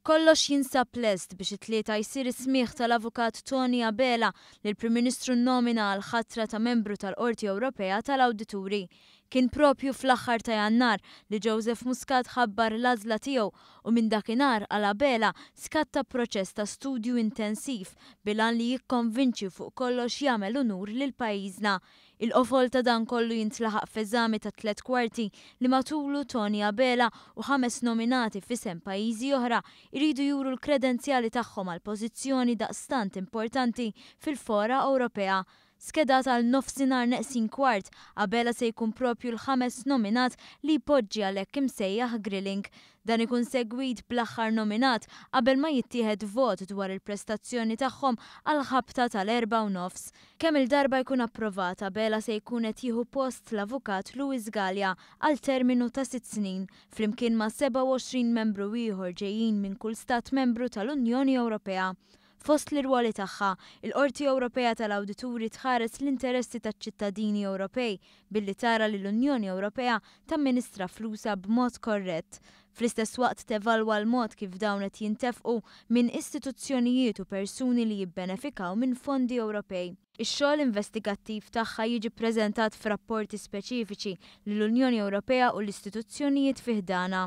Kollox jinsab lest biex it-Tlieta jsir is-smigħ tal-Avukat Toni Abela li l-Prim Ministru nnomina għall-ħatra ta' membru tal-Qorti Ewropea tal-Awdituri. Kien proprju fl-aħħar ta' Jannar li Joseph Muscat ħabbar l-għażla tiegħu u minn dakinhar għal Abela skatta proċess ta' studju intensiv bil-għan li jikkonvinċi u fuq kollox jagħmel unur lil pajjiżna. Il-qofol ta' dan kollu jintlaħaq f'eżami ta' tlett kwarti li matulu Toni Abela u ħames nominati f'isem pajjiżi oħra jridu juru l-kredenzjali tagħhom għal pożizzjoni daqstant importanti fil-fora Ewropea. Skedat għal nofsinhar neqsin kwart, Abela se jkun proprju l-ħames nominat li jpoġġi għal hekk imsejjaħ grilling. Dan ikun segwit bl-aħħar nominat qabel ma jittieħed vot dwar il-prestazzjoni tagħhom għall-ħabta tal-4:30. Kemm-il darba jkun approvat, Abela se jkun qed jieħu post l-Avukat Louis Galea għal terminu ta' sitt snin, flimkien ma' 27 membru ieħor ġejjin minn kull stat membru tal-Unjoni Ewropea. Fost l-irwoli tagħha, il-Qorti Ewropea tal-Awdituri tħares l-interessi taċ-ċittadini Ewropej billi tara li l-Unjoni Ewropea tamministra flusha b'mod korrett. Fl-istess waqt tevalwa l-mod kif dawn qed jintefqu minn istituzzjonijiet u persuni li jibbenefikaw minn fondi Ewropej. Ix-xogħol investigattiv tagħha jiġi ppreżentat f'rapporti speċifiċi lill-Unjoni Ewropea u l-istituzzjonijiet fi ħdanha.